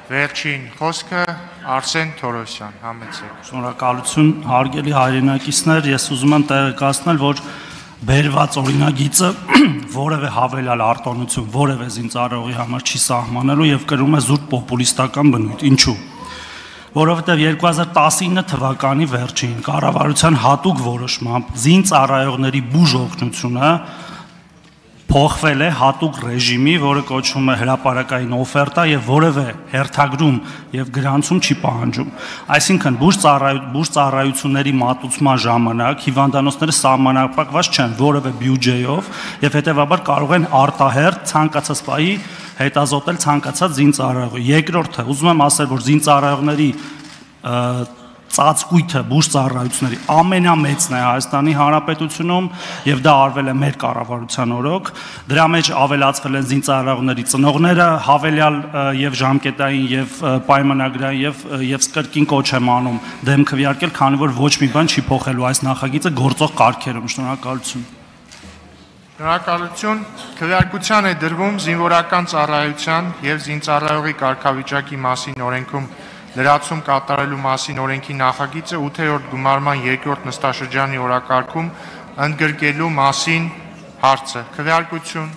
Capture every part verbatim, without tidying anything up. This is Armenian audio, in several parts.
Վերջին խոսքը Արսեն Թորոսյան, համեցեք։ Շնորհակալություն, հարգելի հայրենակիցներ, ես ուզում եմ տեղեկացնել, որ բերված օրինագիծը որևէ հավելյալ արտոնություն, որևէ զինծառայողի համար չի սահմանելու եւ կրում է զուտ պոպուլիստական բնույթ։ Ինչու՞։ Որովհետեւ երկու հազար տասնինը թվականի վերջին կառավարության հատուկ որոշմամբ զինծառայողների բուժ օգնությունը փոխվել է հատուկ ռեժիմի, որը կոչվում է հրապարակային օֆերտա եւ որևէ հերթագրում եւ գրանցում չի պահանջում։ Այսինքն բուժ ծառայությունների մատուցման ժամանակ հիվանդանոցները սահմանափակված չեն որևէ բյուջեով եւ հետեւաբար կարող են արտահերթ ցանկացած պահի հետազոտել ցանկացած զինծառայողի։ Երկրորդը, ուզում եմ ասել, որ զինծառայողների ծածկույթը բուժ ծառայությունների ամենամեծն է Հայաստանի Հանրապետությունում եւ դա արվել է մեր կառավարության օրոք։ Դրա մեջ ավելացվել են զինծառայողների ծնողները, հավելյալ եւ ժամկետային եւ պայմանագրային եւ եւ կրկին կոչ եմ անում դեմ քվեարկել, քանի որ ոչ մի բան չի փոխելու այս նախագիծը գործող կարգերում։ Շնորհակալություն։ Շնորհակալություն։ Քվեարկության է դրվում զինվորական ծառայության եւ զինծառայողի կարգավիճակի մասին օրենքում լրացում կատարելու մասին օրենքի նախագիծը ութերորդ գումարման երկրորդ նստաշրջանի օրակարգում ընդգրկելու մասին հարցը։ Քվեարկություն։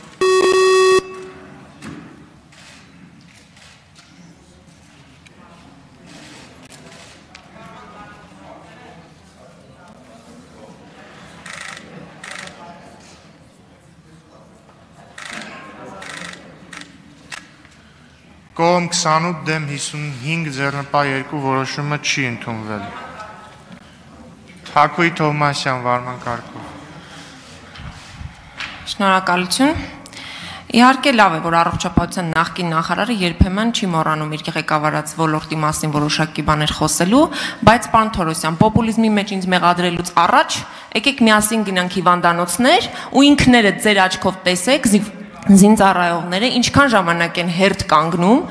Կողմ քսանութ դեմ հիսունհինգ ձեռնպա երկու որոշումը չի ընդունվել։ Թակուի Թովմասյան, վարման կարգով։ Շնորհակալություն։ Իհարկե լավ է, որ առողջապահության նախկին նախարարը երբեմն չի մոռանում իր ղեկավարած ոլորտի մասին որոշակի բաներ խոսելու, բայց պարոն Թորոսյան, պոպուլիզմի մեջ ինձ մեղադրելուց առաջ եկեք միասին գնանք հիվանդանոցներ ու ինքներդ ձեր աչքով տեսեք զինծառայողները ինչքան ժամանակ են հերթ կանգնում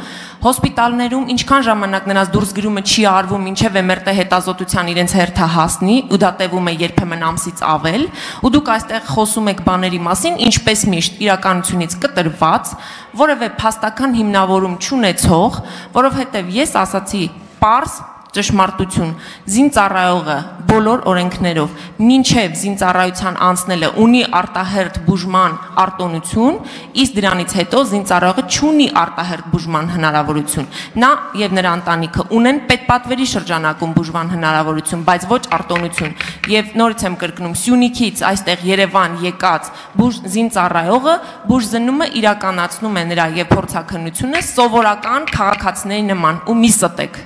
հոսպիտալներում, ինչքան ժամանակ նրանց դուրս գրումը չի արվում, մինչև էմերտե հետազոտության իրենց հերթը հասնի, ու դա տևում է երբեմն ամսից ավել, ու դուք այստեղ խոսում եք բաների մասին, ինչպես միշտ իրականությունից կտրված, որևէ փաստական հիմնավորում չունեցող, որովհետև ես ասացի պարզ ճշմարտություն, զինծառայողը բոլոր օրենքներով մինչև զինծառայության անցնելը ունի արտահերթ բուժման արտոնություն, իսկ դրանից հետո զինծառայողը չունի արտահերթ բուժման հնարավորություն։ Նա եւ նրա ընտանիքը ունեն պետպատվերի շրջանակում բուժման հնարավորություն, բայց ոչ արտոնություն։ Եվ նորից եմ կրկնում, Սյունիքից այստեղ Երևան եկած բուժ զինծառայողը բուժզնումը իրականացնում է նրա եւ փորձաքննությունը սովորական քաղաքացիների նման ու մի ստեք։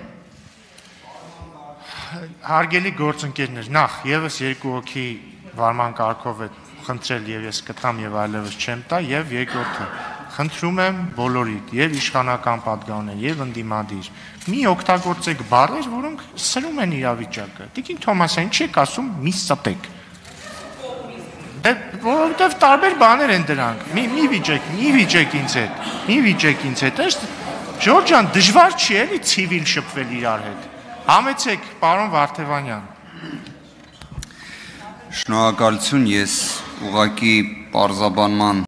Հարգելի գործընկերներ, նախ եւս երկու հոգի վարման կարգով է խնդրել եւ ես կտամ եւ այլևս չեմ տա եւ երկրորդը խնդրում եմ բոլորիդ եւ իշխանական պատգամներ եւ ընդդիմադիր մի օգտագործեք բառեր, որոնք սրում են իրավիճակը։ Տիկին Թոմասյան, ինչ եք ասում մի ստեք։ Դե որովհետեւ տարբեր բաներ են դրանք։ Մի մի վիճեք, մի վիճեք ինձ հետ։ Մի վիճեք ինձ հետ։ Ըստ Ժորժ ջան, դժվար չի էլի ցիվիլ շփվել իրար հետ։ Համեցեք, պարոն Վարդևանյան։ Շնորհակալություն, ես ուղղակի պարզաբանման